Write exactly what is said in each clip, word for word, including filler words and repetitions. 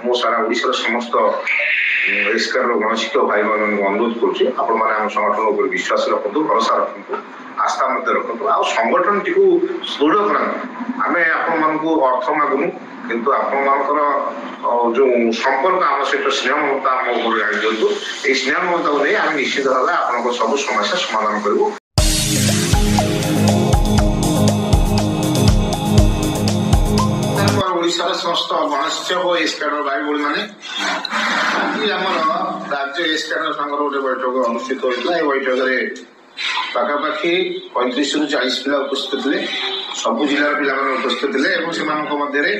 ମୁଁ ସାରା ଓଡ଼ିଶାର ସମସ୍ତ ଏସ୍କାରର ଗଣଶିକ୍ଷକ ଭାଇମାନଙ୍କୁ ଅନୁରୋଧ କରୁଛି, ଆପଣମାନେ ଆମ ସଂଗଠନ ଉପରେ ବିଶ୍ୱାସ ରଖନ୍ତୁ, ଭରସା ରଖନ୍ତୁ, ଆସ୍ଥା ମଧ୍ୟ ରଖନ୍ତୁ ଆଉ ସଂଗଠନଟିକୁ ସୁଦୃଢ଼ କରାନ୍ତୁ। ଆମେ ଆପଣମାନଙ୍କୁ ଅର୍ଥ ମାଗୁନୁ, କିନ୍ତୁ ଆପଣମାନଙ୍କର ଯୋଉ ସମ୍ପର୍କ ଆମ ସହିତ ସ୍ନେହ ମମତା ଆମ ଉପରେ ଆଣି ଦିଅନ୍ତୁ। ଏଇ ସ୍ନେହ ମମତାକୁ ନେଇ ଆମେ ନିଶ୍ଚିତ ଭାବେ ଆପଣଙ୍କ ସବୁ ସମସ୍ୟା ସମାଧାନ କରିବୁ। ଓଡ଼ିଶାର ସମସ୍ତ ଗଣଶିକ୍ଷକ ଓ ଏସ୍କାଡର ଭାଇ ଭଉଣୀମାନେ, ଆଜି ଆମର ରାଜ୍ୟ ଏସ୍କାଡର ସଂଘର ଗୋଟେ ବୈଠକ ଅନୁଷ୍ଠିତ ହୋଇଥିଲା। ଏହି ବୈଠକରେ ପାଖାପାଖି ପଇଁତିରିଶରୁ ଚାଳିଶ ପିଲା ଉପସ୍ଥିତ ଥିଲେ। ସବୁ ଜିଲ୍ଲାର ପିଲାମାନେ ଉପସ୍ଥିତ ଥିଲେ ଏବଂ ସେମାନଙ୍କ ମଧ୍ୟରେ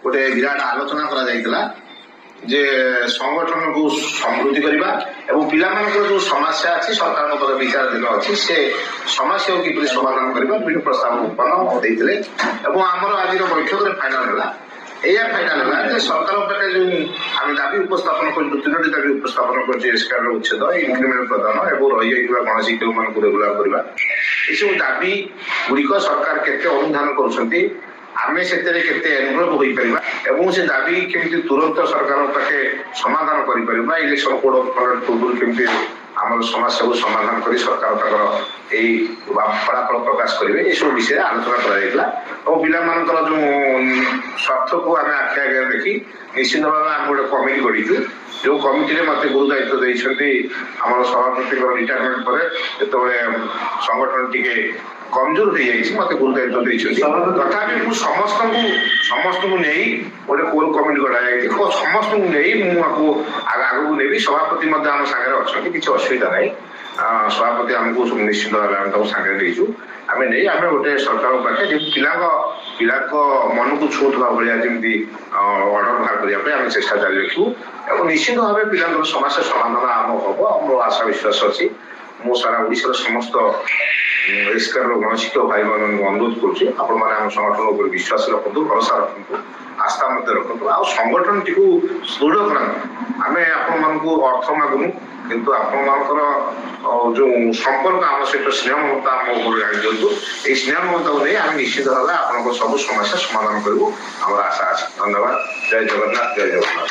ଗୋଟେ ବିରାଟ ଆଲୋଚନା କରାଯାଇଥିଲା ଯେ ସଂଗଠନକୁ ସମୃଦ୍ଧି କରିବା ଏବଂ ପିଲାମାନଙ୍କର ଯୋଉ ସମସ୍ୟା ଅଛି, ସରକାରଙ୍କ ପାଖରେ ବିଚାରାଧୀନ ଅଛି, ସେ ସମସ୍ୟାକୁ କିପରି ସମାଧାନ କରିବା ବିଭିନ୍ନ ପ୍ରସ୍ତାବ ଉତ୍ପନ୍ନ ଦେଇଥିଲେ। ଏବଂ ଆମର ଆଜିର ବୈଠକରେ ଫାଇନାଲ ହେଲା, ଏଇଆ ଫାଇନାଲ ହେଲା ଯେ ସରକାରଙ୍କ ପାଖରେ ଯୋଉ ଆମେ ଦାବି ଉପସ୍ଥାପନ କରିଛୁ, ତିନୋଟି ଦାବି ଉପସ୍ଥାପନ କରିଛୁ, ଏସ୍କାରର ଉଚ୍ଛେଦ, ଇନକ୍ରିମେଣ୍ଟ ପ୍ରଦାନ ଏବଂ ରହିଯାଇଥିବା ଗଣଶିକ୍ଷକମାନଙ୍କୁ ରେଗୁଲାର କରିବା, ଏସବୁ ଦାବି ଗୁଡ଼ିକ ସରକାର କେତେ ଅନୁଧ୍ୟାନ କରୁଛନ୍ତି, ଆମେ ସେଥିରେ କେତେ ଏନଭଲଭ ହୋଇପାରିବା ଏବଂ ସେ ଦାବି କେମିତି ତୁରନ୍ତ ସରକାରଙ୍କ ପାଖେ ସମାଧାନ କରିପାରିବା, ଇଲେକ୍ସନ କୋଡ ଅଫ କଣ୍ଡକ୍ଟ ପୂର୍ବରୁ କେମିତି ଆମର ସମସ୍ୟାକୁ ସମାଧାନ କରି ସରକାର ତାଙ୍କର ଏଇ ଫଳାଫଳ ପ୍ରକାଶ କରିବେ, ଏସବୁ ବିଷୟରେ ଆଲୋଚନା କରାଯାଇଥିଲା। ଏବଂ ପିଲାମାନଙ୍କର ଯୋଉ ସ୍ୱାର୍ଥକୁ ଆମେ ଆଖି ଆଗରେ ଦେଖି ନିଶ୍ଚିତ ଭାବେ ଆମେ ଗୋଟେ କମିଟି ଗଢ଼ିଛୁ, ଯୋଉ କମିଟିରେ ମତେ ଗୁରୁ ଦାୟିତ୍ୱ ଦେଇଛନ୍ତି। ଆମର ସଭାପତିଙ୍କର ରିଟାୟାରମେଣ୍ଟ ପରେ ଯେତେବେଳେ ସଂଗଠନ ଟିକେ କମଜୋର ହେଇଯାଇଛି, ମତେ ଗୁରୁ ଦାୟିତ୍ୱ ଦେଇଛନ୍ତି। ତଥାପି ମୁଁ ସମସ୍ତଙ୍କୁ ସମସ୍ତଙ୍କୁ ନେଇ ଗୋଟେ କୋର କମିଟି ଗଢ଼ାଯାଇଛି, ସମସ୍ତଙ୍କୁ ନେଇ ମୁଁ ଆକୁ ଆଗକୁ ନେବି। ସଭାପତି ମଧ୍ୟ ଆମ ସାଙ୍ଗରେ ଅଛନ୍ତି, କିଛି ଅସୁବିଧା ନାହିଁ। ସଭାପତି ଆମକୁ ନିଶ୍ଚିତ ଭାବେ ଆମେ ତାକୁ ସାଙ୍ଗରେ ନେଇଛୁ। ଆମେ ନେଇ ଆମେ ଗୋଟେ ସରକାରଙ୍କ ପାଖରେ ଯେମିତି ପିଲାଙ୍କ ପିଲାଙ୍କ ମନକୁ ଛୁଉଁଥିବା ଭଳିଆ ଯେମିତି ଅର୍ଡର ବାହାର କରିବା ପାଇଁ ଆମେ ଚେଷ୍ଟା ଜାରି ରଖିବୁ ଏବଂ ନିଶ୍ଚିତ ଭାବେ ପିଲାଙ୍କର ସମସ୍ୟା ସମାଧାନ ଆମ ହବ, ଆମର ଆଶା ବିଶ୍ୱାସ ଅଛି। ମୁଁ ସାରା ଓଡ଼ିଶାର ସମସ୍ତ ଏସ୍କାରର ଗଣଶିକ୍ଷକ ଭାଇମାନଙ୍କୁ ଅନୁରୋଧ କରୁଛି, ଆପଣମାନେ ଆମ ସଂଗଠନ ଉପରେ ବିଶ୍ୱାସ ରଖନ୍ତୁ, ଭରସା ରଖନ୍ତୁ, ଆସ୍ଥା ମଧ୍ୟ ରଖନ୍ତୁ ଆଉ ସଂଗଠନଟିକୁ ସୁଦୃଢ଼ କରାନ୍ତୁ। ଆମେ ଆପଣମାନଙ୍କୁ ଅର୍ଥ ମାଗୁନୁ, କିନ୍ତୁ ଆପଣମାନଙ୍କର ଯୋଉ ସମ୍ପର୍କ ଆମ ସହିତ ସ୍ନେହ ମମତା ଆମ ଉପରେ ଆଣି ଦିଅନ୍ତୁ। ଏଇ ସ୍ନେହ ମମତାକୁ ନେଇ ଆମେ ନିଶ୍ଚିତ ଭାବେ ଆପଣଙ୍କ ସବୁ ସମସ୍ୟା ସମାଧାନ କରିବୁ, ଆମର ଆଶା ଅଛି। ଧନ୍ୟବାଦ। ଜୟ ଜଗନ୍ନାଥ। ଜୟ ଜଗନ୍ନାଥ।